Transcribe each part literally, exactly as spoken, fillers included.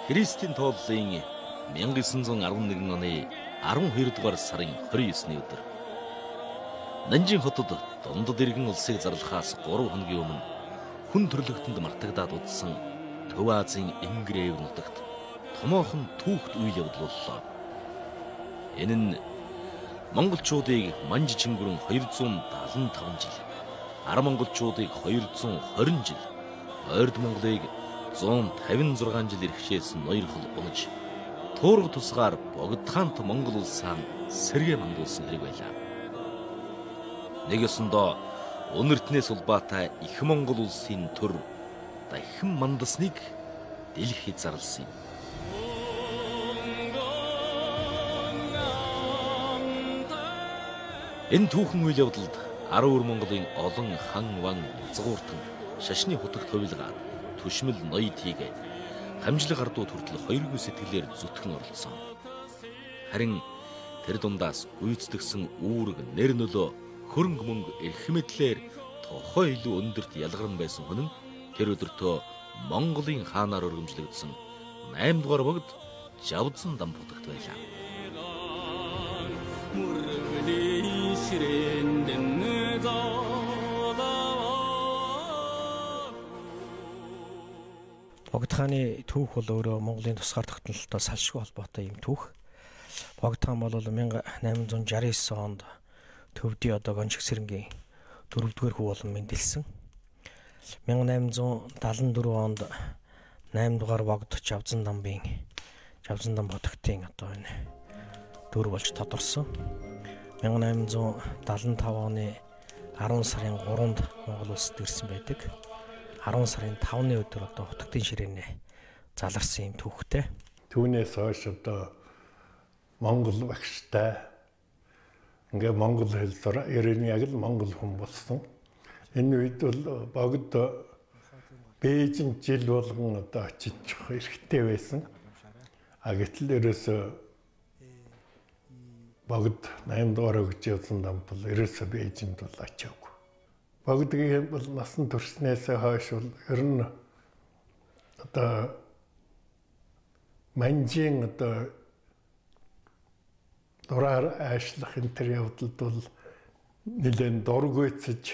Христийн тооллын мянга девсан зуун арван нэгэн оны арван хоёр дугаар сарын хорин есний өдөр Нанжин хотод дундад иргэн улсыг зарлахаас гурван хоногийн өмнө хүн төрлөختөнд мартагдаад удсан Төв Азийн Ингрэв нутагт томоохон түүхт үйл явдал боллоо. Энэ нь монголчуудыг манж чингүрэн хоёр зуун дагалан таван жил, ар монголчуудыг хоёр зуун хорин жил, ойрд Монголыг зуун тавин зургаан жил иргэшээсэн ноёр хол унаж, туурга тусгаар богдхаант Монгол улсаа сэргээ мандуулсан хэрэг байлаа. Нэг ёсондоо өнөртнээс улбаатай их Монгол улсын төр дахин мандасныг дэлхийд зарласан юм. Энэ түүхэн үйл явдалд арван өр Монголын олон хан ван згууртан шашны хутагт хувилгаад түшмэл ноёд хийгээд хамжлаг ардууд хүртэл хоёргүй сэтгэлээр зүтгэн оролцсон. Харин тэр дундаас гүйцэтгсэн үүрэг, нэр нөлөө, хөрөнгө мөнгө, эрх мэдлээр тохой илүү өндөрт ялгарн байсан хүн нь тэр өдөртөө Монголын хаанаар өргөмжлөгдсөн найм дугаар богд Жавзан дам хутагт байлаа. Богдхааны түүх бол өөрөө Монголын тусгаар тогтнолтой салшгүй холбоотой юм түүх. Богдхан бол мянга найман зуун шарсан девять онд Төвдийн одоо Гончигсэрэнгийн дөрөвдүгээр хүү болон мэндэлсэн. мянга найман зуун дагалан дөрвөн онд найм дугаар богд Жавзан дамбын Жавзан дам хотогтын одоо энэ дүр болж тодорсон. мянга найман зуун дагалан таван оны арван сарын гурванд Монгол улсад ирсэн байдаг. арван сарын тавны өдөр одоо хотогтын ширээнэ заларсан юм түүхтэй. Түүнээс хойш одоо Монгол багштай ингээ монгол хэл сураа ерөн яг л монгол хүн болсон. Энэ үед бол богд Бээжин жил болгон одоо очиж хэрэгтэй байсан. А гэтэл ерөөсө богд найм дугаар өгч явсан дам бол ерөөсө Бээжинд бол очиагүй. Богдгийн бол насан туршнаас хойш бол ер нь одоо манжийн одоо дураар аашлах энэ төр явдалд бол нэлээд дургүйцэж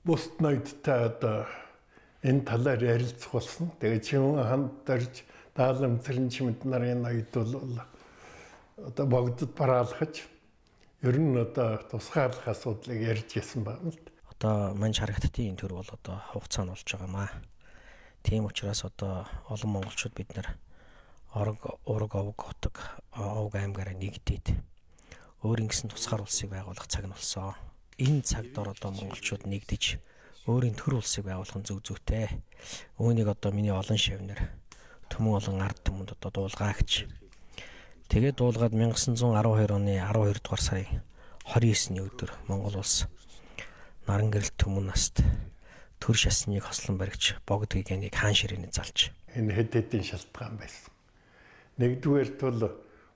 бусд ноёдтой одоо энэ талаар ярилцах болсон. Тэгээд Чимэн ханд дарж Даалам Цэрэнчмэд нарын ноёд бол одоо богдод бараалхаж ер нь одоо тусгаарлах асуудлыг ярьж гисэн байна л. Одоо манж харагдтын төр бол одоо хугацаа нь болж байгаамаа. Тийм учраас одоо олон монголчууд бид нар орог ураг овг хотог овг аймгаараа нэгдээд өөр ингэсэн тусгаар улсыг байгуулах цаг нь болсон. Энэ цагт одоо монголчууд нэгдэж өөрийн төр улсыг байгуулах нь зөв зүйтэй. Үүнийг одоо миний олон шавнар төмөн олон ард түмэнд одоо дуулгаагч. Тэгээд дуулгаад мянга девсан зуун арван хоёр оны арван хоёр дугаар сарын хорин есний өдөр Монгол улс наран гэрэлт түмэн наст төр шасныг хослон баригч богд гэгэнийг хаан ширээний залж. Энэ хэд хэдийн шалтгаан байсан. Нэгдүгээрт бол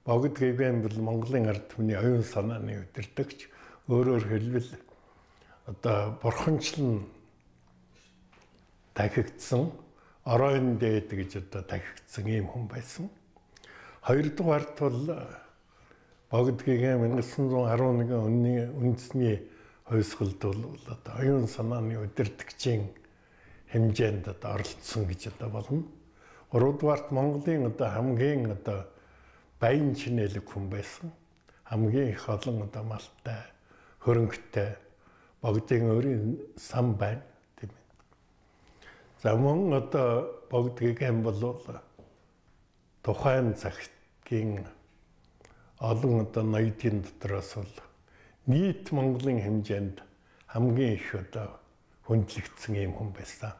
богд гэгээн бол Монголын ард түмний оюун санааны удирдагч. Өөрөөр хэлбэл одоо бурханчлан дахигдсан оройн дээд гэж одоо дахигдсан ийм хүн байсан. Хоёрдугаарт бол богд гэгээн мянга девсан зуун арван нэгэн оны үндэсний хувьсгалд бол одоо оюун санааны удирдагчийн хэмжээнд одоо оролцсон гэж одоо болно. Гуравдугаарт Монголын одоо хамгийн одоо баян чинэлэг хүн байсан. Хамгийн их олон одоо малтай, хөрөнгөтэй богдын өөрийн сан байна тийм ээ. За мөн одоо богд гэгээн бол тухайн цагтгийн олон одоо ноёдын дотроос бол нийт Монголын хэмжээнд хамгийн их одоо хүндлэгдсэн юм хүн байсан.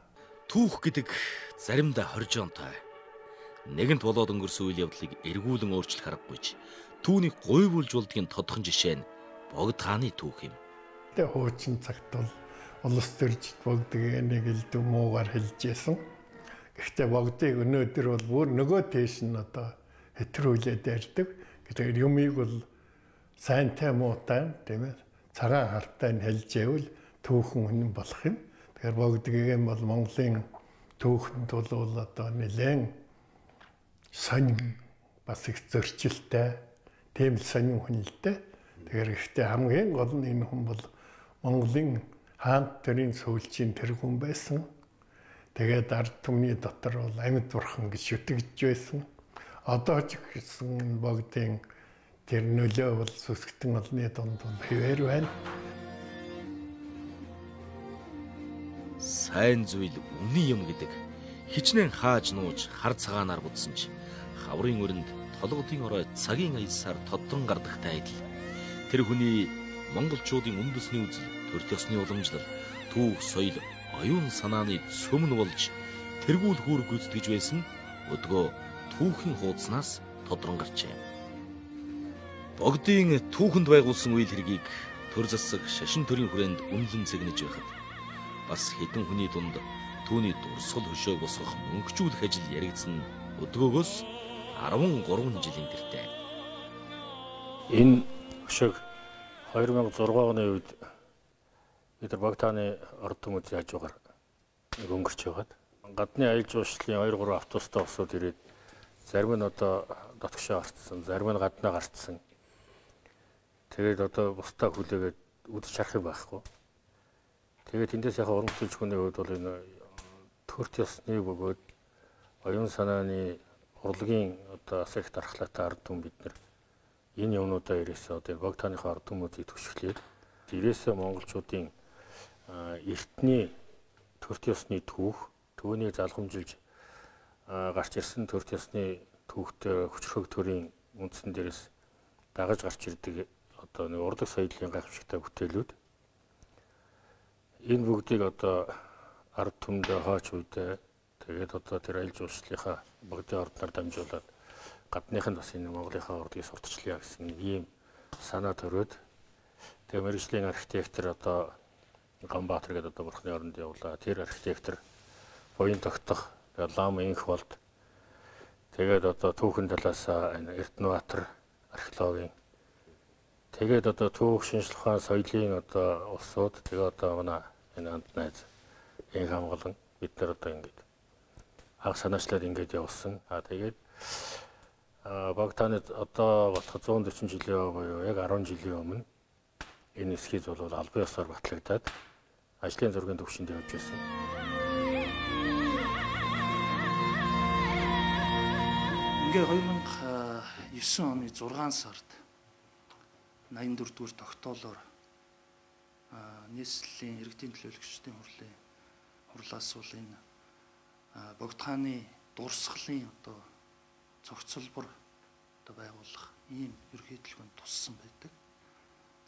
Түүх гэдэг заримдаа хоржоонтой. Нэгэнт болоод өнгөрсөн үйл явдлыг эргүүлэн өөрчлөх аргагүйч түүнийг гуйвуулж болдгийн тодхон жишээ нь Богдхааны түүх юм. Тэгээ хуучин цагт бол улс төрж богд гэгэнийг элдв муугаар хэлжсэн. Гэхдээ богдыг өнөөдөр бол бүр нөгөө тийш нь одоо хэтрүүлээд ярьдаг. Тэгэхээр юмыг бол сайнтай муутай тийм ээ цагаан хартай нь хэлжээвэл түүхэн үнэн болох юм. Тэгэхээр богд гэгээн бол Монголын түүхэнд бол одоо нэлээд сонин бас их зөрчилтэй, тийм л сонин хүн л дээ. Тэгэхээр ихтэй хамгийн гол нь энэ хүн бол Монголын хаант төрийн сүүлчийн тэр хүн байсан. Тэгээд ард түмний дотор бол амьд бурхан гэж шүтгэж байсан. Одоо ч гэсэн богдын тэр нөлөө бол сүсгтэн олны донд хэвээр байна. Сайн зүйл үний юм гэдэг хичнээн хааж нууж хар цагаанаар будсан ч хаврын өрөнд толгодын орой цагийн аясаар тоддрон гардагтай адил. Тэр хүний монголчуудын үндэсний үзэл, төрөлх ёсны уламжлал, түүх соёл, оюун санааны цөмн болж тэргүүл хүүр гүйцэтгэж байсан өдгөө түүхийн хуудаснаас тодрон гарчээ. Богдын түүхэнд байгуулсан үйл хэргийг төр засаг шашин төрийн хүрээнд үнэлэн цэгнэж байхад бас хэдэн хүний дунд түүний дурсгал хөшөөг босгох мөнгөжүүлэх ажил яригдсан өдгөөгөөс арван гурван жилийн тэртээ. Энэ хөшөөг хоёр мянга зураг оны үед бид нар Богдааны ард түмний хажуугаар өнгөрч яваад гадны аялал жуулчлалын хоёр гурван автобустай босоод ирээд зарим нь одоо дотгошоо гарцсан, зарим нь гаднаа гарцсан. Тэгээд одоо бусдаа хүлээгээд үдч харах юм байхгүй. Тэгээд эндээс яхаа уран бүтээлчхүний хувьд бол энэ төрөлх ёсны бөгөөд оюун санааны урлагийн одоо асар их дархлаатай ард түмэн бид нар энэ юмнуудаа ирээсээ одоо Богдааныхаа ард түмүүдийг төвшглээд ирээсээ монголчуудын эртний төрөлх ёсны түүх, түүнийг залхамжилж гарч ирсэн төрөлх ёсны түүхтэй хүчрхэг төрийн үндсэн дээрээс дагаж гарч ирдэг одоо нэг урлаг соёлын гайхамшигтай бүтээлүүд энэ бүгдийг одоо ард түмэндээ хооч үедээ тэгээд одоо тэр аялал жуулчлалынхаа Богдын ордноор дамжуулаад гадныхан бас энэ Монголынхаа урлагийг сурталчлая гэсэн ийм санаа төрөөд тэгээд мэргэжлийн архитектор одоо Ганбаатар гэдэг одоо бурхны оронд явлаа. Тэр архитектор буян тогтох лам инх болд тэгээд одоо түүхэн талаас энэ Эрдэнэбаатар археологийн тэгээд одоо түүх шинжлэх ухаан соёлын одоо улсууд тэгээд одоо манай энэ анд найз инх хамгаалan бид нар одоо ингэж анх санаачлаад ингэж явуулсан. А тэгээд Богдааны одоо болох зуун дөрвөн жилийн буюу яг арван жилийн өмнө энэ эскиз бол албан ёсоор батлагдаад ажлын зургийн төвшөнд явж байсан. Ингээ хоёр мянга девэн оны зургаан сард найман дөрөвдүгээр тогтоолоор нийслэлийн иргэдийн төлөөлөгчдийн хурлын хурлаас бол энэ Богдхааны дурсгалын одоо цогцлбор одоо байгуулах ийм ерөнхий төлөвөнд туссан байдаг.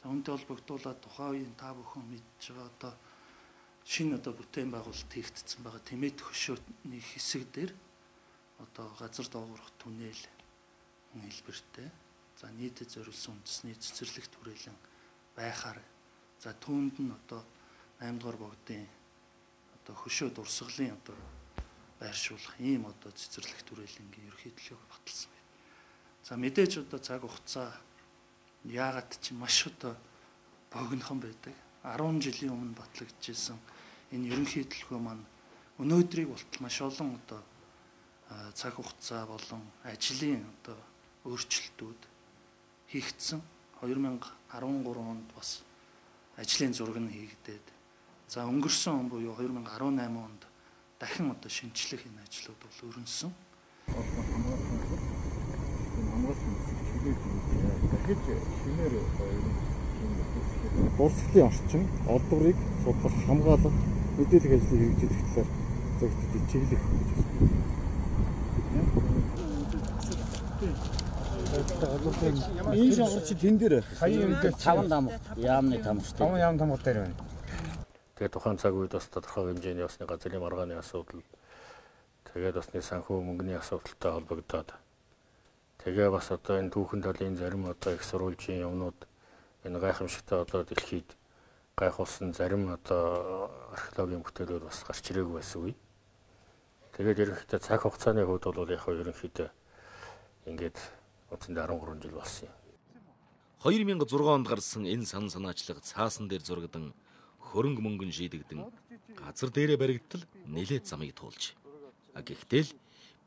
За үүнтэй холбогдуулаад тухайн үеийн та бүхэн мэдж байгаа одоо шинэ одоо бүтээн байгуулалт хийгдсэн байгаа Тэмээд хөшөөний хэсэг дээр одоо газар доогоорох түнэл хэлбэртэй. За нийтэд зориулсан үндэсний цэцэрлэгт хүрээлэн байхаар за түүнд нь одоо найман дугаар богдын одоо хөшөө дурсгалын одоо байршуулах ийм одоо цэцэрлэгт хүрээлэнгийн ерөнхий төлөв баталсан байна. За мэдээж одоо цаг хугацаа яагаад ч маш одоо богинохон байдаг. арван жилийн өмнө батлагдчихсан энэ ерөнхий төлөвөө маань өнөөдрийг болтол маш олон одоо цаг хугацаа болон ажлын одоо өөрчлөлтүүд хийгдсэн. хоёр мянга арван гурав онд бас ажлын зураг нь хийгдээд за өнгөрсөн он буюу хоёр мянга арван найман онд дахин одоо шинжлэх энэ ажлууд бол өрнөсөн. Дахиж шинээр дурсгалын орчин олдврыг судлах, хамгаалах, мэдээлэл ажлыг хэрэгжүүлэх талаар зөвхөн чиглэх гэж байна. Энэ шахар чи тэн дээр таван дам яамны тамштай. таван яам тамга дээр байна. Тэгээд тухайн цаг үед бас тодорхой хэмжээний басны газрын маргааны асуудал тэгээд басны санхүү мөнгөний асуудалтай холбогдоод тэгээ бас одоо энэ түүхэн талын зарим одоо их сурвалжийн юмнууд энэ гайхамшигтай одоо дэлхийд гайхуулсан зарим одоо археологийн бүтээлүүд бас гарч ирээгүй байсан үе. Тэгээд ерөнхийдөө цаг хугацааны хувьд бол яг ерөнхийдөө ингээд үндсэндээ арван гурван жил болсон юм. хоёр мянга зургаан онд гарсан энэ сан санаачлаг цаасан дээр зурагдан хөрөнгө мөнгөн шийдэгдэн газар дээрээ баригдтал нэлээд замыг туулж. А гэхдээ л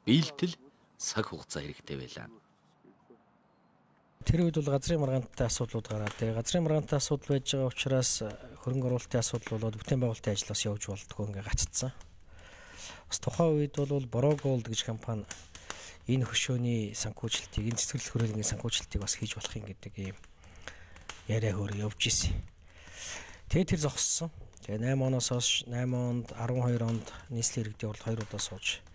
биелтэл цаг хугацаа хэрэгтэй байлаа. Тэр үед бол газрын маргаантай асуудлууд гараад тэгээ газрын маргаантай асуудал байж байгаа учраас хөрөнгө оруулалтын асуудал болоод бүтээн байгуулалтын ажлаас явж болтгоо ингээ гаццсан. Бас тухайн үед бол Borrow Gold гэж компани энэ хөшөөний санхүүжилтийг, энэ цэцэрлэг хөрөнгөний санхүүжилтийг бас хийж болох юм гэдэг ийм яриа хөрөө явж исэн. Тэгээ тэр зогссон. Тэгээ найман оноос хойш найман онд, арван хоёр онд нийслэлийн иргэдийн уралд хоёр удаа сууж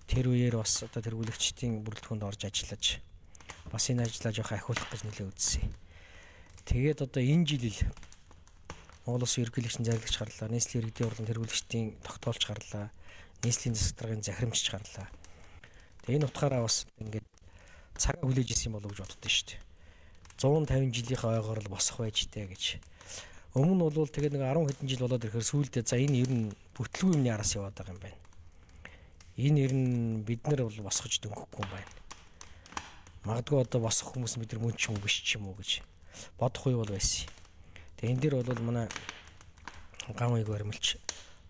тэр үеэр бас одоо тэргүүлэгчдийн бүрэлдэхүүнд орж ажиллаж бас энэ ажлаа жоох ахиулах гэж нэлээд үзсэн. Тэгээд одоо энэ жил Монгол Улсын ерөнхийлөгчийн зарлагч гарлаа, нийслэлийн иргэдийн урлан тэргүүлэгчдийн тогтоолч гарлаа, нийслэлийн засаг даргын захирамжч гарлаа. Тэгээ энэ утгаараа бас ингээд цагаа хүлээж исэн болов гэж боддоо шүү дээ. зуун тавин жилийнхээ ойгоор л босох байж тээ гэж. Өмнө нь бол тэгээд нэг арван хэдэн жил болоод ирэхээр сүүлдээ за энэ ер нь бүтлгүй юмны араас яваад байгаа юм байна. Энэ ер нь бид нар бол босгож дөнгөхгүй юм байна. Магадгүй одоо босох хүмүүс бид нар мөн ч юм уу биш ч юм уу гэж бодох үе бол байсан. Тэгээ энэ дээр бол манай гам аяг баримлч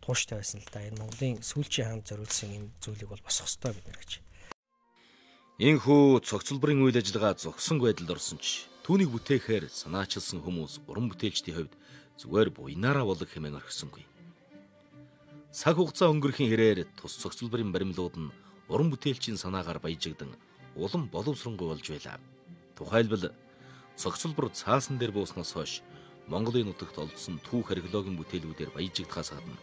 тууштай байсан л да. Энэ Монголын сүүлчийн хаанд зориулсан энэ зүйлийг бол босох ёстой бид нар гэж. Энэхүү цогцлбарын үйл ажиллагаа зогсон байдалд орсон ч түүнийг бүтээхээр санаачилсан хүмүүс уран бүтээлчдийн хувьд зүгээр буйнаараа болог хэмээн орхисонгүй. Цаг хугацаа өнгөрөхийн хэрээр тус цогцлбарын баримлууд нь уран бүтээлчийн санаагаар баяжигдан улам боловсронгуй болж байлаа. Тухайлбал цогцлбор цаасан дээр бууснаас хойш Монголын нутагт олдсон түүх археологийн бүтээлүүдээр баяжигдахаас гадна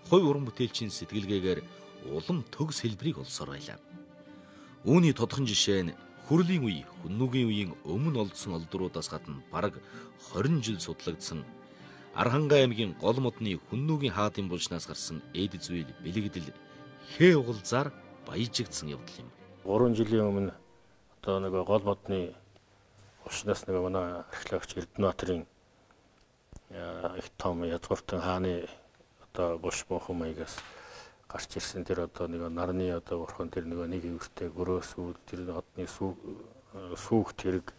хувь уран бүтээлчийн сэтгэлгээгээр улам төгс хэлбэрийг олсоор байлаа. Үүний тодхон жишээ нь хүрлийн үе, хүннүгийн үеийн өмнө олдсон олдруудаас гадна бараг хорин жил судлагдсан Архангай аймгийн гол модны хүннүгийн хаадын булчнаас гарсан эд зүйл бэлэгдэл хээ угалзаар баяжигдсан явдал юм. гурван жилийн өмнө одоо нэг гол модны булчнаас нэг манай археологч Эрдэнэбаатарын их том язгууртан хааны одоо булш буухан маягаас гарч ирсэн тэр одоо нэг нарны одоо бурхан тэр нэг нэг өвөртэй гөрөөс үл тэр одны сүүх тэрэг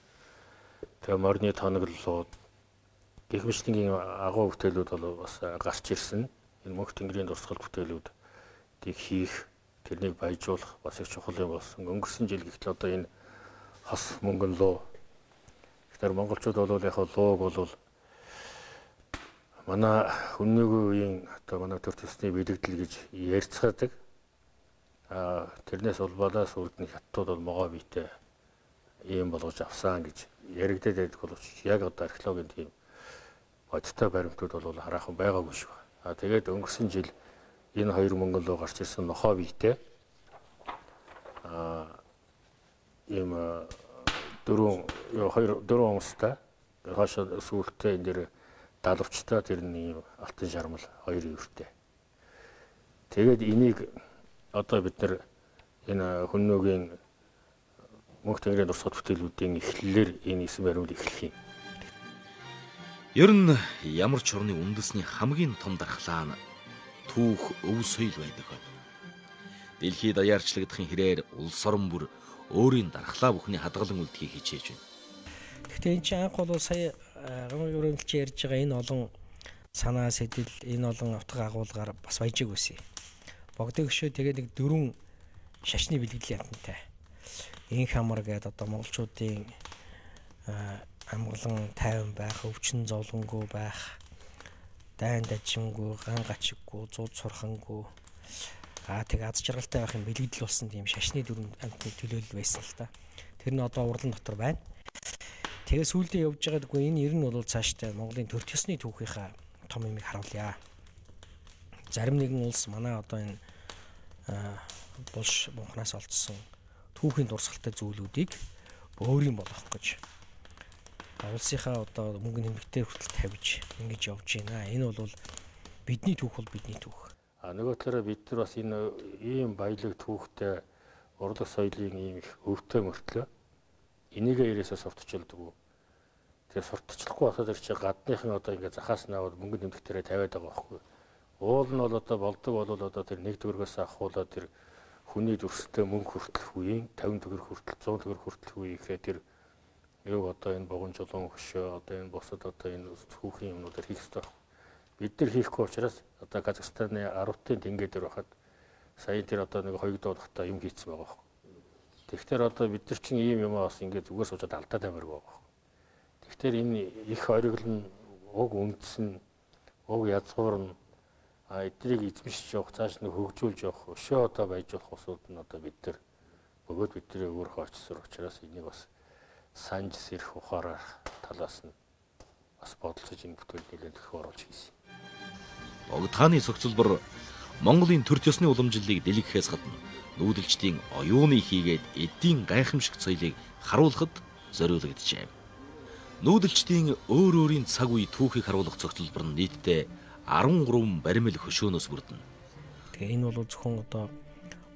тэгээ морины тоноглолууд гэх мэтлэнгийн агуу бүтээлүүд бол бас гарч ирсэн. Энэ мөнх тэнгэрийн дурсгал бүтээлүүдийг хийх, тэрнийг баяжуулах бас их чухал юм болсон. Өнгөрсөн жил гэтэл одоо энэ хос мөнгөн луу. Тэгэхээр монголчууд бол яг лууг бол манай хүннүгийн үеийн одоо манай төр төсний бэлэгдэл гэж ярьцгаадаг. Аа тэрнээс улбалаас үрдний хаттууд бол могоо биетэй ийм болгож авсан гэж яригдаад байдаг боловч яг одоо археологийн тийм бодтой баримтууд бол хараахан байгаагүй шүү. Аа тэгээд өнгөрсөн жил энэ хоёр мөнгөн луу гарч ирсэн нохоо биетэй аа ийм дөрөв хоёр дөрөв онцтой хашаа сүүлдээ энэ дэр далавчтай тэрний алтан шармал хоёр өвөртэй. Тэгээд энийг одоо бид нар энэ хүннүгийн мөнх тэнгэрийн дурсгал бүтээлүүдийн эхлэлээр энэ эсэм баримлыг эхлэх юм. Ер нь ямар ч орны үндэсний хамгийн том дархлаа нь түүх өв соёл байдаг. Дэлхийд даяарчлагдахын хэрээр улс орон бүр өөрийн дархлаа бүхний хадгалан үлдэхийг хичээж байна. Гэхдээ энэ чинь анх бол сая гамгийн өрөмлч ярьж байгаа энэ олон санаа сэтэл, энэ олон утга агуулгаар бас баяжиг байсан. Богдын хөшөө тэгээд нэг дөрвөн шашны бэлгэдлийн антантай. Инх хамар гэдэг одоо монголчуудын амгалан тайван байх, өвчин зовлонгүй байх, дайн дажимгүй, ган гачиггүй, зууд сурхангүй аа тэг аз жаргалтай байхын бэлгэдэл болсон тийм шашны дөрвөн антны төлөөлөл байсан л та. Тэр нь одоо урлан дотор байна. Тэгээ сүүлдээ явж байгаагүй энэ ер нь бол цаашдаа Монголын төр төсний түүхийнхаа том юмыг харуулъя. Зарим нэгэн улс манай одоо энэ булш бунхнаас олдсон түүхийн дурсгалтай зүйлүүдийг өөрийн болгох гэж улсынхаа одоо мөнгөний хэмжээтэй хүртэл тавьж ингэж явж байна. Энэ бол бидний түүх бол бидний түүх. А нөгөө талаараа бид нар бас энэ ийм баялаг түүхтэй урлаг соёлын ийм их өвтэй мөртлөө энийг ярээсээ сурталчилдаг. Тэгээ сурталчлахгүй байхад тэр чинь гадныхан одоо ингээ захаас наваад мөнгө нэмэгдэрээ тавиад байгаа байхгүй. Уул нь бол одоо болдог бол одоо тэр нэг төгрөгөөс ахуулаад тэр хүний дүрстэй мөнгө хүртэлх үеийн тавин төгрөг хүртэл зуун төгрөг хүртэлх үе ихээр тэр яг одоо энэ богон жолон хөшөө одоо энэ босод одоо энэ хүүхийн юмнуудаар хийх хэрэгтэй. Бид нар хийхгүй учраас одоо Казахстаны Арвтын тэнгэр дээр байхад сая тэр одоо нэг хоёрдоо дахта юм хийцсэн байгаа байхгүй. Тэгэхээр одоо бид нар чинь ийм юм бас ингээд зүгээр суужаад алдаад амиргүй байгаа. Тэгэхээр энэ их ориглон уг үндэс нь уг язгуур нь а эднийг эзэмшиж явах цааш нь хөгжүүлж явах өшөө одоо байж болох усууд нь одоо бид нар бөгөөд бидний өөрийнхөө очсор учраас энийг бас санж сэрх ухаараар талаас нь бас бодолцож энэ бүтээлд нэлээд их оруулж хийсэн. Богд хааны цогцлбор Монголын төр төсний уламжлалыг дэлгэхээс гадна нүүдэлчдийн оюуны хийгээд эдийн гайхамшиг соёлыг харуулахад зориулагджээ. Нүүдэлчдийн өөр өөрийн цаг үе түүхийг харуулах цогцлбор нь нийтдээ арван гурван баримл хөшөөнөөс бүрдэнэ. Тэгээ энэ бол зөвхөн одоо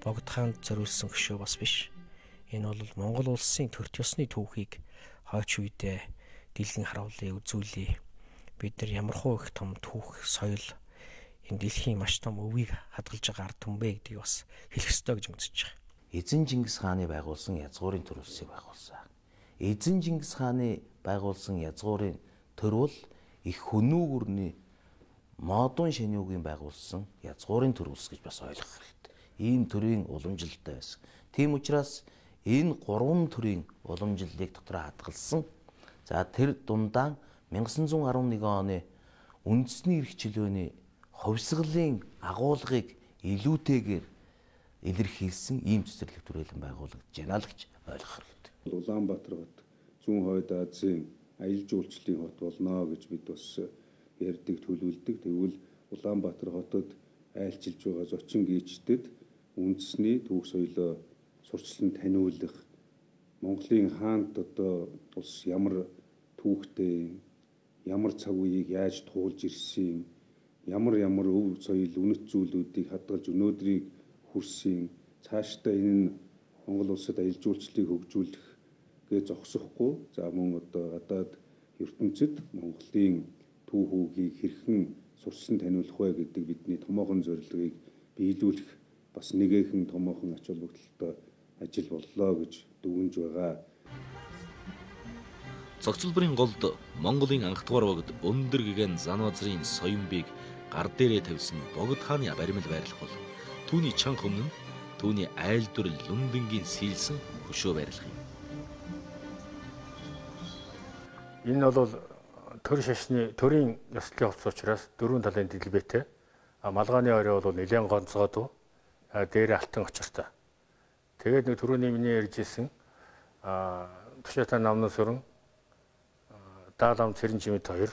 Богд хаанд зориулсан хөшөө бас биш. Энэ бол Монгол улсын төр төсний түүхийг хойч үедээ дэлгэн харуулъя, үзүүлье. Бид нар ямархуу их том түүх, соёл энэ дэлхийн маш том өвийг хадгалж байгаа ард түмбэ гэдгийг бас хэлэх ёстой гэж үзэж байгаа. Эзэн Чингис хааны байгуулсан язгуурын төр улсыг байгуулсан. Эзэн Чингис хааны байгуулсан язгуурын төр бол их хөнүүгүрний модон шенүүгийн байгуулсан язгуурын төр улс гэж бас ойлгох хэрэгтэй. Ийм төрлийн уламжлалтай байсан. Тийм учраас энэ гурван төрлийн уламжлалыг дотроо хадгалсан. За тэр дундаа 천ix арван нэгэн оны үндэсний эрх чөлөөний хувьсгалын агуулгыг илүүтэйгээр илэрхийлсэн ийм цэцэрлэг түрээлэн байгуулагдаж байна л гэж ойлгох хэрэгтэй. Улаанбаатар хот зүүн хойд Азийн аялал жуулчлалын хот болно гэж бид бас ярьдаг, төлөвлөдөг. Тэгвэл Улаанбаатар хотод айлчилж байгаа зочин гүйчдэд үндэсний түүх соёлоо сурчлан таниулах, Монголын хаанд одоо улс ямар түүхтэй, ямар цаг үеийг яаж туулж ирсэн, ямар ямар өв соёл, үнэт зүйлүүдийг хадгалж өнөөдрийг хүрсэн, цаашдаа энэ нь Монгол улсад аялал жуулчлалыг хөгжүүлэх гэж зогсохгүй. За мөн одоо гадаад ертөнцид Монголын түүх үгийг хэрхэн сурсан таниулах вэ гэдэг бидний томоохон зорилгыг биелүүлэх бас нэгэн томоохон ач холбогдолтой ажил боллоо гэж дүгнж байгаа. Цогцлборын голд Монголын анхдугаар богд өндөр гэгэн Занвазрын соёмбыг гар дээрээ тавьсан Богд хааны баримл байрлах бол түүний чанга өмнө нь түүний айл дүр Лүндэнгийн сийлсэн хөшөө байрлах юм. Энэ бол төр шашны төрийн ёслолын хувцас учраас дөрвөн талын дэлбэтэй. А малгааны орой бол нэлээд гонцгойдуу. А дээр алтан очиртой. Тэгээд нэг түрүүний миний ярьжсэн а Тушаатан намнаас өрн Даалам Цэрэн Жимэд хоёр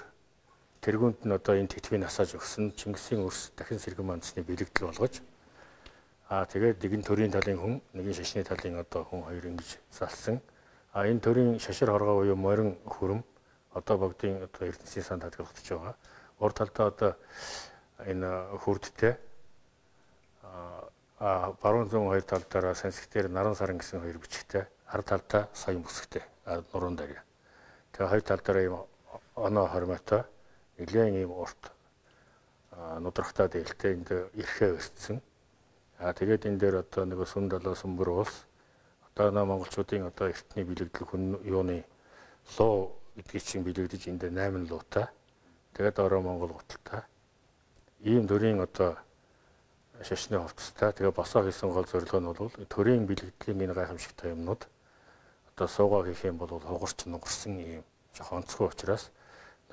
тэргүүнд нь одоо энэ тэтгэвийг насааж өгсөн Чингисийн өрс дахин сэргэн мандсны бэлэгдэл болгож а тэгээд нэгэн төрийн талын хүн, нэгэн шашны талын одоо хүн хоёр ингэж залсан. А энэ төрийн шашир хоргоо буюу морин хөрөм одоо богдын одоо ертөнцийн санд хадгалагдаж байгаа. Урд талдаа одоо энэ хүрдтэй а баруун зүүн хоёр талдаараа сансктээр наран саран гэсэн хоёр бичгтэй, хар талдаа саян бүсгтэй нуруунд дээр. Тэгээ хоёр талдаараа ийм оноо хормойтой нэлээд ийм урт нудрахтаа дээлтэй энд эрхээ өртсөн. А тэгээд энэ дээр одоо нэг сүм далаа сүмбэр уус одоо нөө монголчуудын одоо эртний бэлэгдэл хүн юуны луу гэдгийг чинь бэлэгдэж энд найман луутай. Тэгээд ороо монгол гуталтай. Ийм төрлийн одоо шашны хувцастай. Тэгээ босоо хийсэн гол зорилго нь бол төрийн бэлэгдлийн энэ гайхамшигтай юмнууд одоо суугаа хийх юм бол хугарч нугарсан ийм жоохон онцгой учраас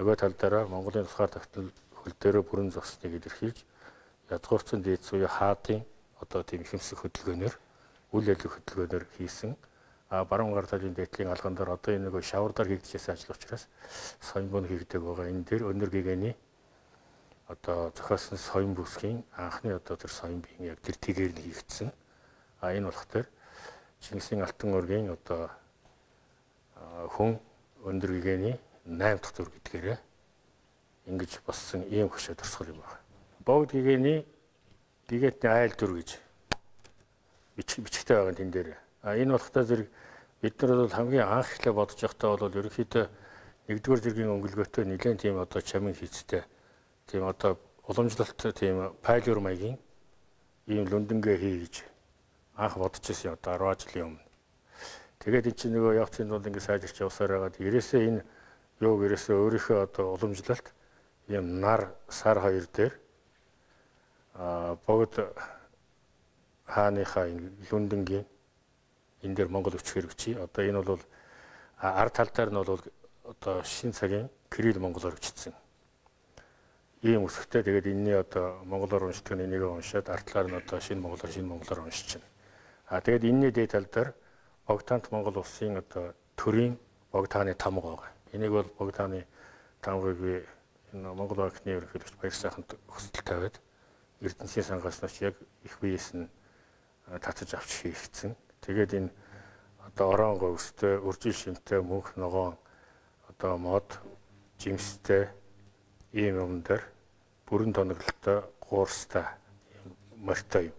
нөгөө талдаараа Монголын тусгаар тогтнол хөл дээрээ бүрэн зогсныг илэрхийлж язгуурцсан дээд суурь хаадын одоо тийм ихэмсэх хөдөлгөөнөөр үйл ажиллагаа хөдөлгөөнөөр хийсэн. А баруун гар талын дээдлийн алган дээр одоо энэ нөгөө шавардар хийгдчихсэн ажил учраас соёмбон хийгдэг байгаа. Энэ дээр өнөр гэгэний одоо зохиосон соём бүсгийн анхны одоо тэр соёмбын яг тэр тэгээр нь хийгдсэн. А энэ болох тэр Чингисийн алтан ургийн одоо хүн өндөр гэгэний найм дахь төр гэдгээрээ ингэж болсон ийм хөшөө төрсгөл юм байна. Богд гэгэний гэгээтний айл дүр гэж бичгтэй байгаа тэн дээр. А энэ болохтой зэрэг бид нар бол хамгийн анх эхлээ бодож байхдаа бол ерөнхийдөө нэгдүгээр зэргийн өнгөлгөөтэй нэлээд тийм одоо чамин хийцтэй тийм одоо уламжлалт тийм пайлюр маягийн ийм лүндэнгээ хийж анх бодож ирсэн одоо арван жилийн өмнө. Тэгээд энэ чинь нөгөө явцын дунд ингэ сайжирч явсаар байгаад ерөөсөө энэ юуг ерөөсөө өөрийнхөө одоо уламжлалт ийм нар сар хоёр дээр а богд хааныхаа лүндэнгийн энэ дээр Монгол өвч хэрэгчий. Одоо энэ бол ард талдаар нь бол одоо шин цагийн Кирилл монголоор өвчтсөн. Ийм үсгтэй тэгээд энэний одоо монголоор уншдаг нь энийг уншаад ард талаар нь одоо шинэ монголоор шинэ монголоор уншиж байна. А тэгээд энэний дээд тал дээр Богдхаант Монгол улсын одоо төрийн Богдхааны тамга байгаа. Энийг бол Богдхааны тамгыг би энэ Монгол банкны ерөнхийлөгч Баяр сайханд хүсэлт тавиад Эрдэнэсийн сангааснаас яг их биеэс нь татаж авч хийгдсэн. Тэгээд энэ одоо орон говьстэй, үржил шимтэй, мөнх ногоон одоо мод, жимстэй ийм юм дээр бүрэн тоноглолтой, гуурстай морьтой юм.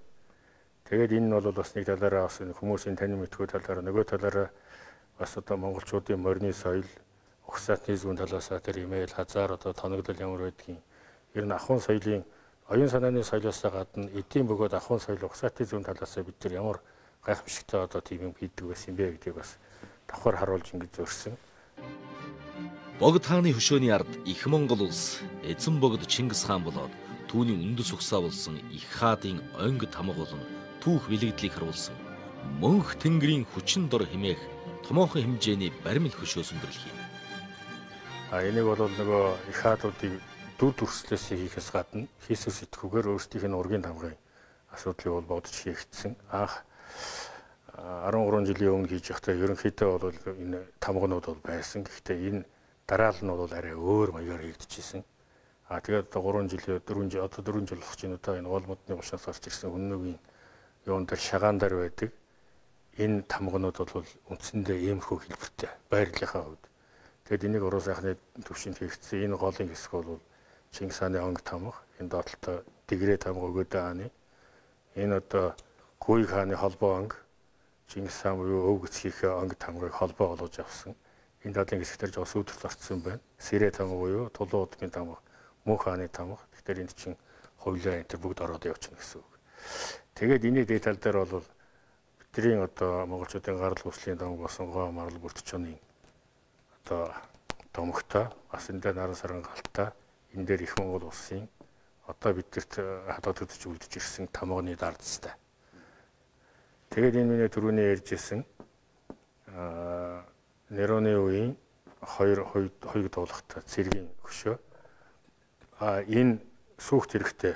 Тэгээд энэ нь бол бас нэг талаараа бас хүмүүсийн танин мэдгүй талаараа нөгөө талаараа бас одоо монголчуудын морины соёл, угсаатны зүүн талаасаа тэр имэйл хазаар одоо тоноглол ямар байдгийг ер нь ахуйн соёлын оюун санааны соёлоосоо гадна эдийн бөгөөд ахуйн соёл угсаатны зүүн талаасаа бид нар ямар гайхамшигтай одоо тийм юм хийдэг байсан юм бэ гэдгийг бас давхар харуулж ингэж зөрсөн. Богдхааны хөшөөний ард их Монгол улс эзэн богд Чингис хаан болоод түүний үндэс угсаа болсон их хаадын онгид тамга болон түүх бэлэгдлийг харуулсан мөнх тэнгэрийн хүчин дор хэмээх томоохон хэмжээний баримл хөшөөс өндөрлөх юм. А энийг бол нөгөө их хаадуудыг дүр төрслөөс хийхээс гадна хийсвэр сэтгүүгээр өөрсдийнх нь ургийн тамгын асуудлыг бол бодож хийгдсэн. Анх арван гурван жилийн өмнө хийж байхдаа ерөнхийдөө бол энэ тамганууд бол байсан. Гэхдээ энэ дараал нь бол арай өөр маягаар хийгдчихсэн. А тэгээд гурван жилийн дөрвөн жил одоо дөрвөн жил болох чинь одоо энэ гол модны улшаас гарч ирсэн хүннөгийн юун дээр шагаан дээр байдаг. Энэ тамганууд бол үндсэндээ иймэрхүү хэлбэртэй байрлалынхаа хувьд. Тэгэд энийг уруу сайхны төвшөнд хийгдсэн энэ голын хэсэг бол Чингис хааны онг тамга, энэ доотлолтой Дэгрээ тамга өгөөдөө хааны. Энэ одоо Гүйг хааны холбоо онг, Чингис хаан буюу өв гэцгийнхээ онг тамгыг холбоо болгож авсан. Энэ дадлын хэсгээр жоо сүйдэрт орцсон байна. Сэрээ тамга буюу Тулуун удмын тамга, Мөнх хааны тамга. Тэгэхээр энд чинь хоёулаа энэ бүгд ороод явчихна гэсэн үг. Тэгээд энэ деталь дээр бол бидний одоо монголчуудын гарал үүслийн тамга болсон Гоо Марл Бүртчооны одоо томгтой бас энэ дээр наран саран галтаа энэ дээр их Монгол улсын одоо бидэрт хадгалагдаж үлдэж ирсэн тамганы дардстай. Тэгээд энэ миний түрүүний ярьжсэн аа Нероны үеийн хоёр хоёрыг дуулахтай цэргийн хөшөө а энэ сүхт хэрэгтэй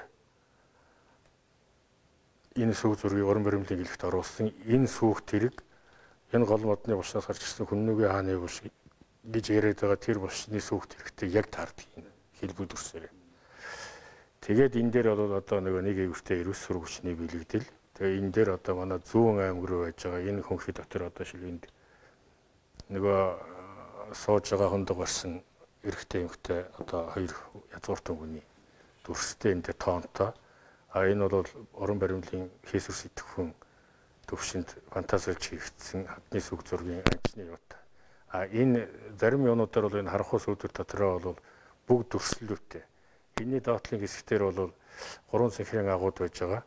энэ сүх зургийг орон баримлын гэлэгт оруулсан энэ сүхт хэрэг энэ гол модны булшаас гарч ирсэн хүннөгийн хааны булш гэж яриад байгаа тэр булшны сүхт хэрэгтэй яг таардаг юм хэлбэр дүрсээр. Тэгээд энэ дээр бол одоо нөгөө нэг эвэртэй эрүүс сургуучны бэлэгдэл. Тэгээ энэ дээр одоо манай зүүн аймаг руу байж байгаа энэ хөнхий дотор одоо шилгэнд нөгөө сууж байгаа хондог барсан эрэгтэй эмэгтэй одоо хоёр язгууртан хүний дүрстэй энэ тоонтой. А энэ бол орон баримлын хийсвэр сэтгэхүйн төвшөнд фантазилж хийгдсэн хадны сүг зургийн анчны юутай. А энэ зарим юунуудаар бол энэ харанхуй сүдэр дотроо бол бүгд дүрслэлтэй. Энэний доотлын хэсгээр бол гурван цэнхрийн агууд байж байгаа.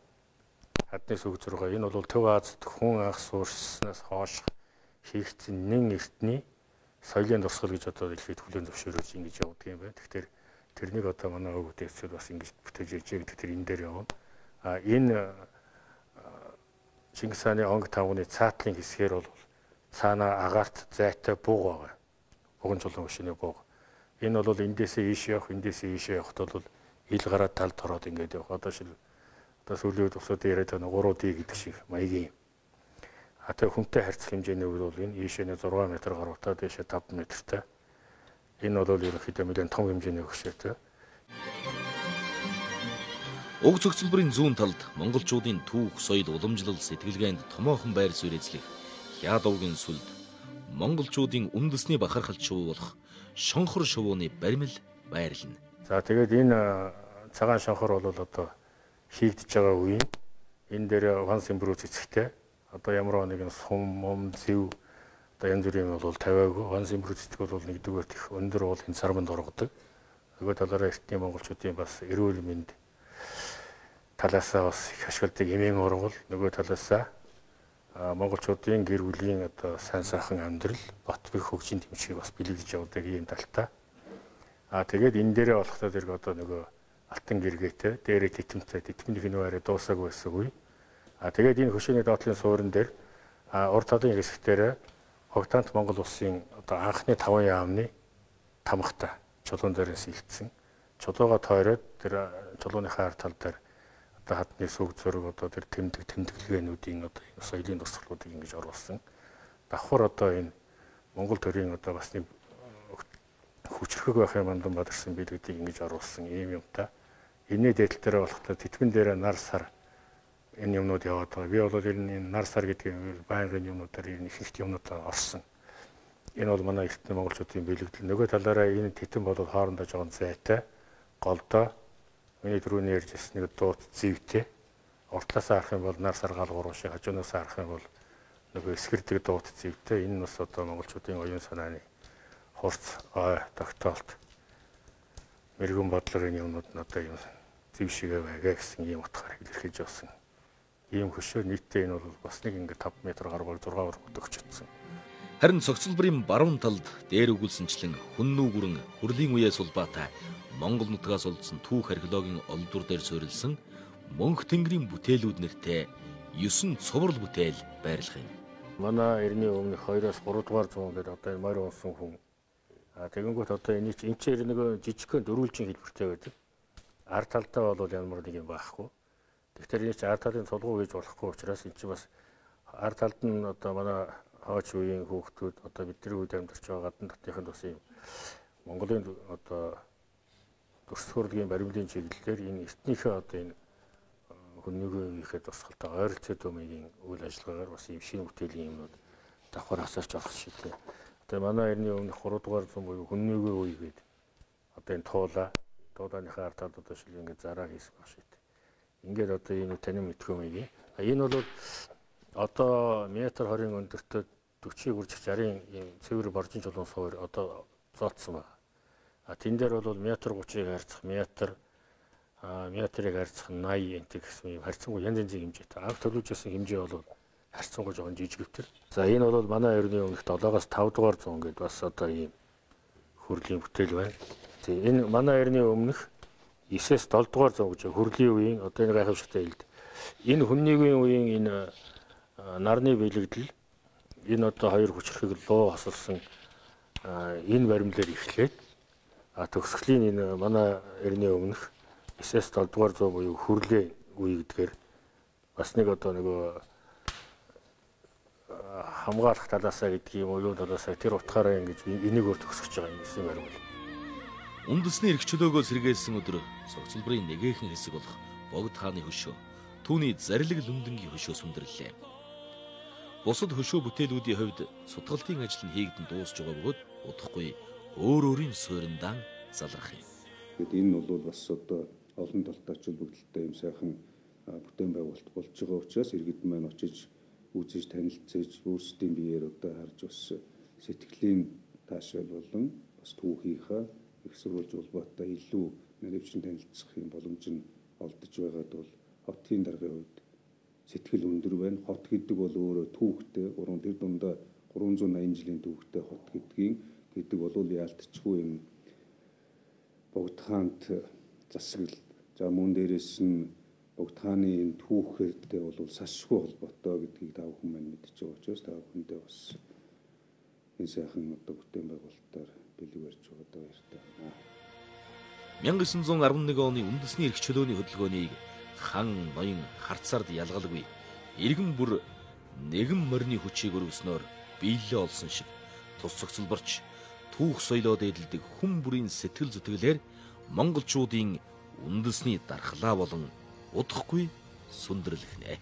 Хадны сүг зургаа энэ бол Төв Азид хүн анх суурьснаас хойш хийгдсэн нэн эртний соёлын дурсгал гэж одоо дэлхийд хүлээн зөвшөөрөөж ингэж явуулдаг юм байна. Тэгэхээр тэрнийг одоо манай өвөг дэвсэл бас ингэж бүтээж ирж байгаа гэдэг тэр энэ дээр явна. А энэ Чингис хааны онг тавганы цаатлын хэсгээр бол цаанаа агаарт зайтай бууг байгаа. Буган чулуун өшөөний бууг. Энэ бол эндээсээ ийш явах, эндээсээ ийш явахт бол ил гараад талд ороод ингэж явах. Одоо шил одоо сүүлийн үед усууд яриад байгаа гурван ди гэдэг шиг маягийн. А тэг хүнтэй харьцах хэмжээний үед бол энэ ийшээний зургаан метр гаруйтай, дээшээ таван метртэй. Энэ бол ерөнхийдөө нэлээд том хэмжээний хөшөөтэй. Уг цогцлбарын зүүн талд монголчуудын түүх, соёл, уламжлал, сэтгэлгээнд томоохон байр суурь эзлэх Хяад овгийн сүлд монголчуудын үндэсний бахархалт шувуу болох шонхор шувууны баримл байрлана. За тэгээд энэ цагаан шонхор бол одоо хийгдэж байгаа үеийн энэ дээр ван симбрүү цэцэгтэй одоо ямар нэгэн сум, мом, зэв одоо янз бүрийн бол тавиагүй. Ван симбрүү цэцэг бол нэгдүгээр их өндөр уулын сарманд оргодог. Нөгөө талаараа эртний монголчуудын бас эрүүл мэнд талаасаа бас их ашигладаг эмийн ургал, нөгөө талаасаа монголчуудын гэр бүлийн одоо сайн сайхан амьдрал, бот бэх хөгжийн тэмцээг бас бэлэгдэж явдаг ийм талтай. А тэгээд энэ дээрээ болохдоо зэрэг одоо нөгөө алтан гэргээтэй, дээрээ титэмтэй, титмнийх нь арай дуусаагүй байсан үе. А тэгээд энэ хөшөөний доотлын суурин дээр А урд талын хэсгээр Богдаант Монгол улсын одоо анхны таван яамны тамхтай чулуун дээрээс илтсэн. Чулууга тойроод тэр чулууныхаа ард тал дээр одоо хадны сүг зураг одоо тэр тэмдэг тэмдэглэгээнүүдийн одоо соёлын дурсгалуудыг ингэж оруулсан. Давхар одоо энэ Монгол төрийн одоо бас нэг хүчрхэг байх юм бандан бадарсан билүүдийг ингэж оруулсан ийм юмтай. Энэний дэдэл дээр болохтой тэтгэн дээр нар сар энэ юмнууд яваад байгаа. Би бол энэ нар сар гэдэг байнгын юмнуудаар энэ их их юмнуудаа орсон. Энэ бол манай эртний монголчуудын бэлэгдэл. Нөгөө талаараа энэ титэн бол хоорондоо жоохон зайтай, голдоо. Миний түрүүний ярьжсэн нэг дуут зэвтэй. Уртлаасаа харах юм бол нар сар гал гурван шиг, хажуунаас харах юм бол нөгөө эсгэрдэг дуут зэвтэй. Энэ бас одоо монголчуудын оюун санааны хурц, ой, тогтоолт, мэрэгэн бодлоор энэ юмнууд нь одоо юм зэв шигээ байгаа гэсэн ийм утгаар илэрхийлж явсан. Ийм хөшөө нийтдээ энэ бол бас нэг ингээд таван метр гаруй зураг өргөдөгч чадсан. Харин цогцлбарын баруун талд дээр өгүүлсэнчлэн хүннүү гүрэн хүрлийн үеэс улбаатай Монгол нутгаас олдсон түүх археологийн олдвор дээр суурилсан Мөнх тэнгэрийн бүтээлүүд нэртэй есөн цуврал бүтээл байрлах юм. Манай эртний өмнөх хоёроос гурав дугаар зуун дээр одоо энэ морь унсан хүн. А тэгэнгүүт одоо энэ чинь энэ чинь нэг жижигхэн дөрвөлжин хэлбэртэй байдаг. Ард талдаа бол ямар нэг юм байхгүй. Тэгэхээр энэ чинь ард талын цулгуу гэж болохгүй учраас энэ чинь бас ард талд нь одоо манай хооч үеийн хүүхдүүд одоо бидний үед амьдарч байгаа гадны дотныхын бас юм Монголын одоо дурсгалын баримлын чиглэлээр энэ эртнийхээ одоо энэ хүннийхээ ихэд тусгалтай ойролцоо төмийн үйл ажиллагаагаар бас юм шинэ бүтээлийн юмнууд давхар асарч орох шийдээ. Одоо манай эртний өмнөх гурав дугаар зуун буюу хүннийхээ үе гэдэг одоо энэ туула туулааныхаа ард талд одоо шил ингээд зараа хийсэн баг шийдээ. Ингээд одоо энэ танин мэдхөөмийг. Энэ бол одоо метр хорийн өндөртөө дөрвийг үржих шарын ийм цэвэр боржин чулуун суур одоо зооцсон байна. А тэн дээр бол метр гутрыг харьцах метр а метрыг харьцах наяа энэ гэсэн юм харьцангуй янз янзын хэмжээтэй. Анх төлөвлөжсэн хэмжээ бол харьцангуй жоохон жижигвтер. За энэ бол манай ерний өмнөх долоогоос таван дугаар зуун гэдээ бас одоо ийм хүрлийн бүтээл байна. Тэгээ энэ манай ерний өмнөх девээс долоо дугаар зуун гэж хүрлийн үеийн одоо энэ гайхамшигтай хэлд. Энэ хүннийгийн үеийн энэ нарны бэлэгдэл энэ одоо хоёр хүчрхэг луу хосолсон энэ баримлаар эхлээд а төгсгөлийн энэ манай эртний өмнөх девээс долоо дугаар зуун буюу хүрлээ үе гэдгээр бас нэг одоо нөгөө хамгаалах талаасаа гэдэг юм уу юу талаасаа тэр утгаараа ингэж энийг өөр төгсөж байгаа юм гэсэн баримл. Үндэсний эрх чөлөөгөө сэргээсэн өдөр цогцлбарын нэгэхэн хэсэг болох Богд хааны хөшөө түүний зарлиг лүмдэнгийн хөшөө сүндэрлээ. Бусад хөшөө бүтээлүүдийн хувьд сутгалтын ажил нь хийгдэн дуусж байгаа бөгөөд удахгүй өөр өөрийн сууриндаан залрах юм. Гэт энэ бол бас одоо олон талтай чөлбөгдөлтэй юм сайхан бүтээн байгуулалт болж байгаа учраас иргэд маань очиж үзэж танилцж өөрсдийн биеэр одоо харж бас сэтгэлийн таашаал болон бас түүхийнхаа их сурвалж улбаатай илүү наривчин танилцах юм боломж нь олдож байгаад бол хотын даргын хувьд сэтгэл өндөр байна. Хот гэдэг бол өөрөө түүхтэй гурван тэр дундаа гурван зуун аян жилийн түүхтэй хот гэдгийг гэдэг бол яалтчгүй юм. Богд хаант засаглал за мөн дээрээс нь Богд хааны энэ түүхтэй бол сашгүй холбоотой гэдгийг та бүхэн маань мэдж байгаа учраас та бүхэндээ бас энэ сайхан одоо бүтээн байгуулалтаар бэлэг барьж байгаа баяртай байна. мянга девятьсот арван нэг оны үндэсний эрх чөлөөний хөдөлгөөнийг хан ноён харцаард ялгалгүй иргэн бүр нэгэн морины хүчийг өргөснөөр биелээ олсон шиг тус цогцлборч түүх соёлоо дээдэлдэг хүн бүрийн сэтгэл зүтгэлээр монголчуудын үндэсний дархлаа болон удахгүй сүндэрлэх нэ.